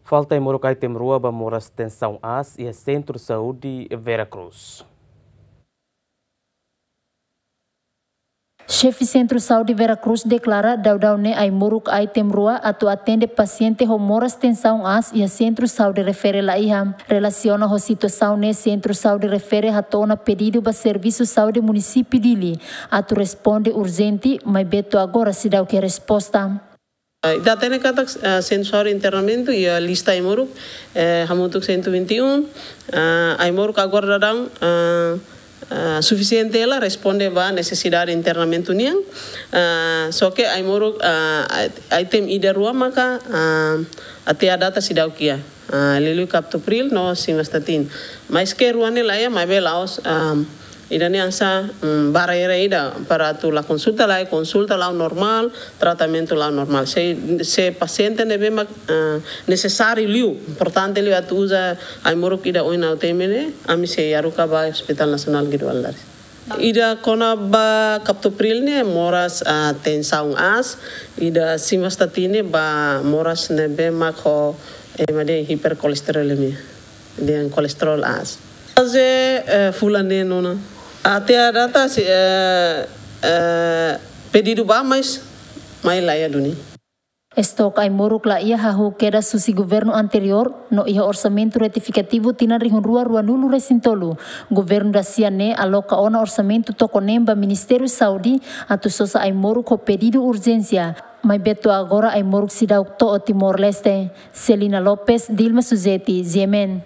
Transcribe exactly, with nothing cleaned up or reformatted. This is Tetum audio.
Falta ai-moruk item rua ba moras tensaun aas iha Sentru Saúde Vera Cruz. Xefe Sentru Saúde Vera Cruz deklara daudaun ne'e ai-moruk item rua atu atende pasiente ho moras tensaun aas iha Sentru Saúde refere la iha. Relasiona ho situasaun ne'e, Sentru Saúde refere hato'o ona pedidu ba Servisu Saúde Munisípiu Dili atu responde urjente, maibé to'o agora seidauk iha resposta. Ah, ita hatene katak, ah, Sentru Saúde Internamentu iha lista ai-moruk, eh, hamutuk cento e vinte e um, ah, ai-moruk agora daudaun, ah, ah, sufisiente hela responde ba nesesidade internamentu nian. Ah, só ke ai-moruk, ah, item ida rua maka, ah, até à data seidauk iha. Ah, liuliu captopril no simvastatin. Maske rua ne'e la iha, maibé la'ós, ah, ida-ne'e hanesan, mm, barreira ida para atu la konsulta, la konsulta la'o normál, tratamentu la'o normál. Se, se pasiente ne'ebé mak, ah, nesesáriu liu, importante liu atu uza ai-moruk ida ohin ha'u temi ne'e, ami sei haruka ba Hospital Nasionál Guido Valadares. Ida kona-ba captopril ne'e moras, ah, tensaun aas, ida simvastatin ne'e ba moras ne'ebé mak ho, eh, ema dehan hiperkolesterolemia, dehan kolesterol aas. Faze, eh, fulan neen ona. Até à data sei, eh, eh, pedidu ba, mas mai la iha duni. Estok ai-moruk la iha hahú kedas husi governu anteriór, no iha orsamentu retifikativu tinan rihun rua ruanulu resin tolu, governu da-sia ne'e aloka ona orsamentu toko neen ba Ministériu Saúde atu sosa ai-moruk ho pedidu urjénsia, maibé to'o agora ai-moruk seidauk to'o Timor-Leste. Celina Lopes, Dilma Suzeti, G M N.